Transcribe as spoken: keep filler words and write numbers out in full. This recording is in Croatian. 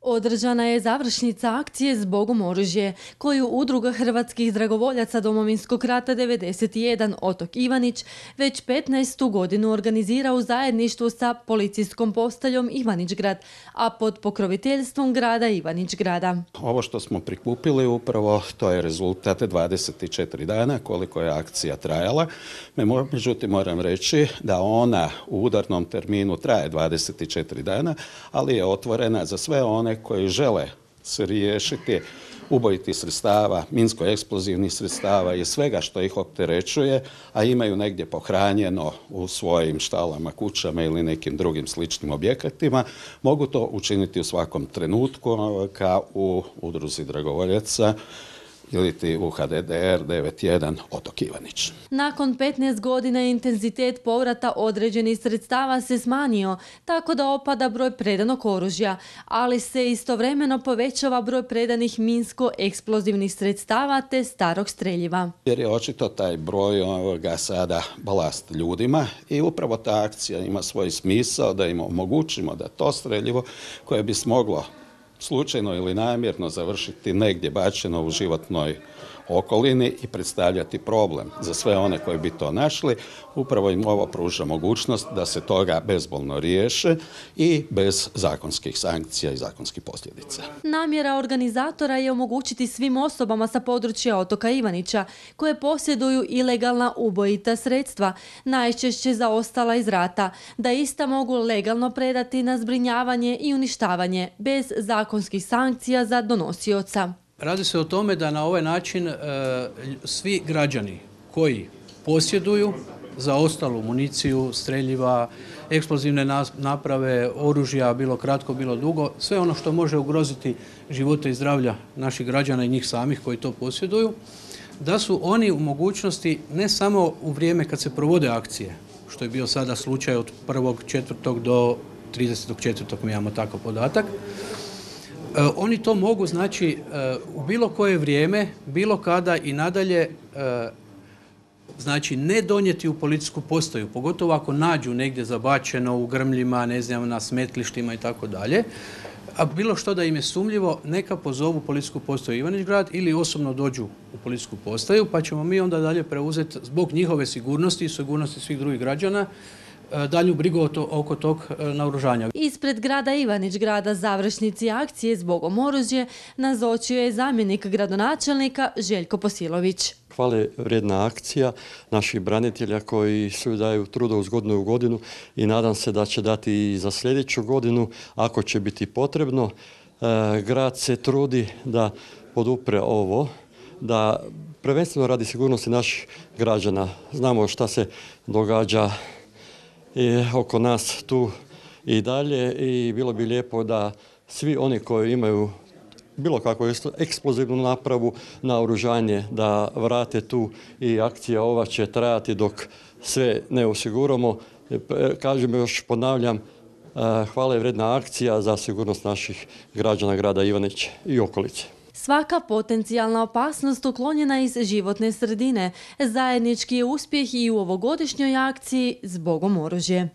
Održana je završnica akcije Zbogom oružje, koju Udruga hrvatskih dragovoljaca Domovinskog rata devedeset jedan Otok Ivanić već petnaestu godinu organizira u zajedništvu sa policijskom postaljom Ivanić-Grad, a pod pokroviteljstvom grada Ivanić-Grada. Ovo što smo prikupili upravo to je rezultat dvadeset četiri dana koliko je akcija trajala. Međutim, moram reći da ona u udarnom terminu traje dvadeset četiri dana, ali je otvorena za sve one koji žele se riješiti ubojitih sredstava, minsko-eksplozivnih sredstava i svega što ih opterećuje, a imaju negdje pohranjeno u svojim štalama, kućama ili nekim drugim sličnim objektima, mogu to učiniti u svakom trenutku kao u Udruzi dragovoljaca ili ti u H D D R devedeset jedan Otok Ivanić. Nakon petnaest godina intenzitet povrata određenih sredstava se smanjio, tako da opada broj predanog oružja, ali se istovremeno povećava broj predanih minsko-eksplozivnih sredstava te starog streljiva. Jer je očito taj broj ovoga sada balast ljudima i upravo ta akcija ima svoj smisao da im omogućimo da to streljivo koje bi smoglo slučajno ili namjerno završiti negdje bačeno u životnoj okolini i predstavljati problem za sve one koji bi to našli. Upravo im ovo pruža mogućnost da se toga bezbolno riješe i bez zakonskih sankcija i zakonskih posljedica. Namjera organizatora je omogućiti svim osobama sa područja otoka Ivanića koje posjeduju ilegalna ubojita sredstva, najčešće zaostala iz rata, da ista mogu legalno predati na zbrinjavanje i uništavanje bez zakonskih sankcija za donosioca. Radi se o tome da na ovaj način e, svi građani koji posjeduju zaostalu municiju, streljiva, eksplozivne naprave, oružja, bilo kratko, bilo dugo, sve ono što može ugroziti živote i zdravlja naših građana i njih samih koji to posjeduju, da su oni u mogućnosti ne samo u vrijeme kad se provode akcije, što je bio sada slučaj od prvog četvrtog do tridesetog četvrtog mi imamo takav podatak, oni to mogu, znači, u bilo koje vrijeme, bilo kada i nadalje, znači, ne donijeti u policijsku postaju, pogotovo ako nađu negdje zabačeno u grmljima, ne znam, na smetlištima i tako dalje, a bilo što da im je sumnjivo, neka pozovu policijsku postaju Ivanić-Grad ili osobno dođu u policijsku postaju, pa ćemo mi onda dalje preuzeti zbog njihove sigurnosti i sigurnosti svih drugih građana dalju brigu oko tog naoružanja. Ispred grada Ivanić-Grada završnici akcije Zbogom oružje nazočio je zamjenik gradonačelnika Željko Posilović. Hvale vrijedna akcija naših branitelja koji su daju truda uz godinu u godinu i nadam se da će dati i za sljedeću godinu ako će biti potrebno. Grad se trudi da podupre ovo, da prvenstveno radi sigurnosti naših građana. Znamo šta se događa i oko nas tu i dalje i bilo bi lijepo da svi oni koji imaju bilo kakvu eksplozivnu napravu, naoružanje, da vrate tu i akcija ova će trajati dok sve ne osiguramo. Kažem, još ponavljam, hvale vrijedna akcija za sigurnost naših građana grada Ivanić i okolice. Svaka potencijalna opasnost uklonjena iz životne sredine. Zajednički je uspjeh i u ovogodišnjoj akciji Zbogom oružje.